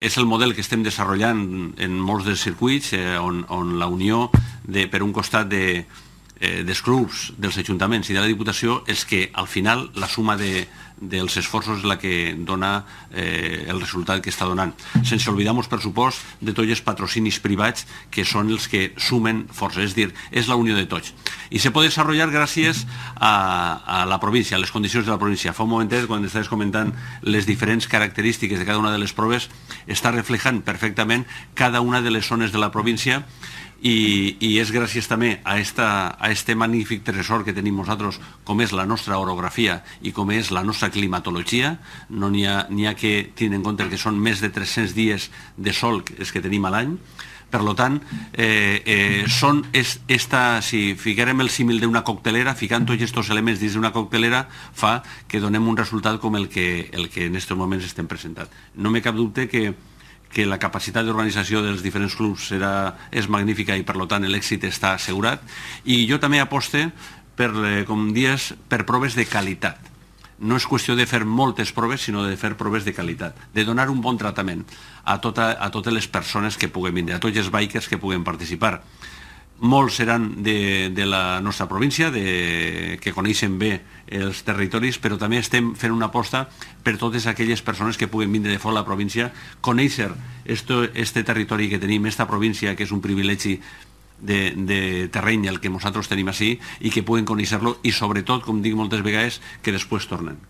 És el model que estem desenvolupant en molts dels circuits on la unió, per un costat, dels clubs, dels ajuntaments i de la Diputació és que al final la suma dels esforços és la que dona el resultat que està donant. Sense oblidar, per supost, de tots els patrocinis privats que són els que sumen força, és a dir, és la unió de tots. I se pot desenvolupar gràcies a la província, a les condicions de la província. Fa un momentet, quan estaves comentant les diferents característiques de cada una de les proves, està reflejant perfectament cada una de les zones de la província i és gràcies també a este magnífic tresor que tenim nosaltres, com és la nostra orografia i com és la nostra climatologia. No n'hi ha que tenir en compte que són més de 300 dies de sol els que tenim a l'any. Per tant, si ficarem el símil d'una coctelera, ficant tots aquests elements dins d'una coctelera, fa que donem un resultat com el que en aquests moments estem presentant. No m'he cap dubte que la capacitat d'organització dels diferents clubs és magnífica i, per tant, l'èxit està assegurat. I jo també aposte com dies, per proves de qualitat. No és qüestió de fer moltes proves, sinó de fer proves de qualitat, de donar un bon tractament a totes les persones que puguen vindre, a tots els bikers que puguen participar. Molts seran de la nostra província, que coneixen bé els territoris, però també estem fent una aposta per totes aquelles persones que puguen vindre de fora de la província, conèixer aquest territori que tenim, aquesta província, que és un privilegi de terreny el que nosaltres tenim així, i que puguen conèixer-lo i, sobretot, com dic moltes vegades, que després tornen.